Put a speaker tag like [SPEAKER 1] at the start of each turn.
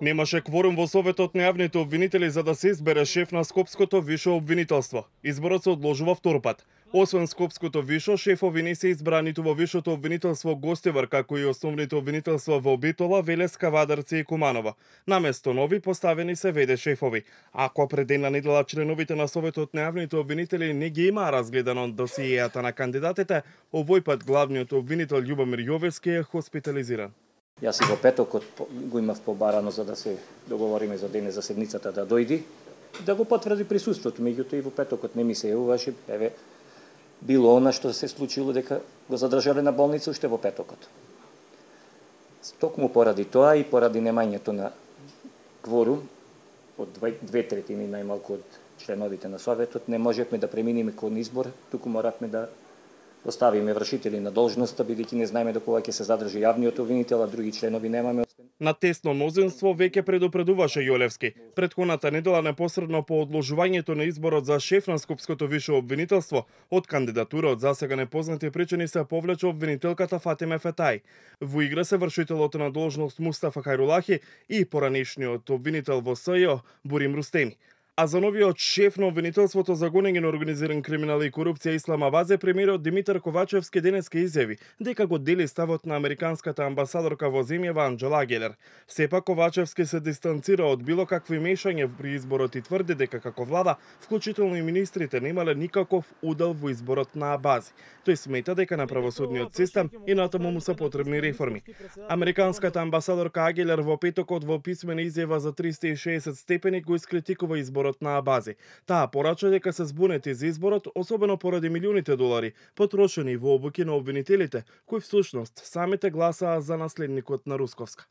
[SPEAKER 1] Немаше кворум во Советот на јавните обвинители за да се избере шеф на Скопското висше обвинителство. Изборот се одложува втор пат. Освен Скопското висше, шефови не се избрани ниту во Висшето обвинителство Гостивар, како и основните обвинителства во Битола, Велеска, Вадарци и Куманова. Наместо нови поставени се веде шефови. Ако пред една недела членовите на Советот на јавните обвинители не ги имаа разгледано досиејата на кандидатите, овој пат главниот обвинител Љубомир Јовевски е хоспитализиран.
[SPEAKER 2] Јас и во петокот го имав побарано за да се договориме за дене за седницата да дојди, да го потврди присуството, меѓутоа и во петокот не ми се јавуваше, било она што се случило дека го задржале на болница уште во петокот. Токму поради тоа и поради немањето на кворум од 2/3 најмалку од членовите на Советот, не можевме да преминеме кон избор, туку моравме да оставиме вршители на должноста, бидејќи не знаеме до кога ќе се задржи јавниот обвинител, а други членови немаме.
[SPEAKER 1] На тесно мнозинство веќе предупредуваше Јолевски. Претходната недела непосредно по одложувањето на изборот за шеф на Скопското висше обвинителство, од кандидатура од засега непознати причини се повлече обвинителката Фатиме Фетај. Во игра се вршителот на должност Мустафа Хајрулахи и поранешниот обвинител во СЈО Бурим Рустеми. А за новиот шеф на обвинителството за гонење на организиран криминал и корупција Исламабаде, премиерот Димитар Ковачевски денеска изјави дека го дели ставот на американската амбасадорка во земјава Анџела Гелер. Сепак Ковачевски се дистанцира од било какви мешање при изборот и тврди дека како влада, вклучително и министрите, немале никаков удел во изборот на Абази. Тој смета дека на правосудниот систем и натаму му се потребни реформи. Американската амбасадорка Агелер во петокот во писмена изјава за 360 степени го искритикува изборот на Абази. Таа порача дека се збунети за изборот, особено поради милионите долари потрошени во обуки на обвинителите, кои всушност самите гласаа за наследникот на Русковска.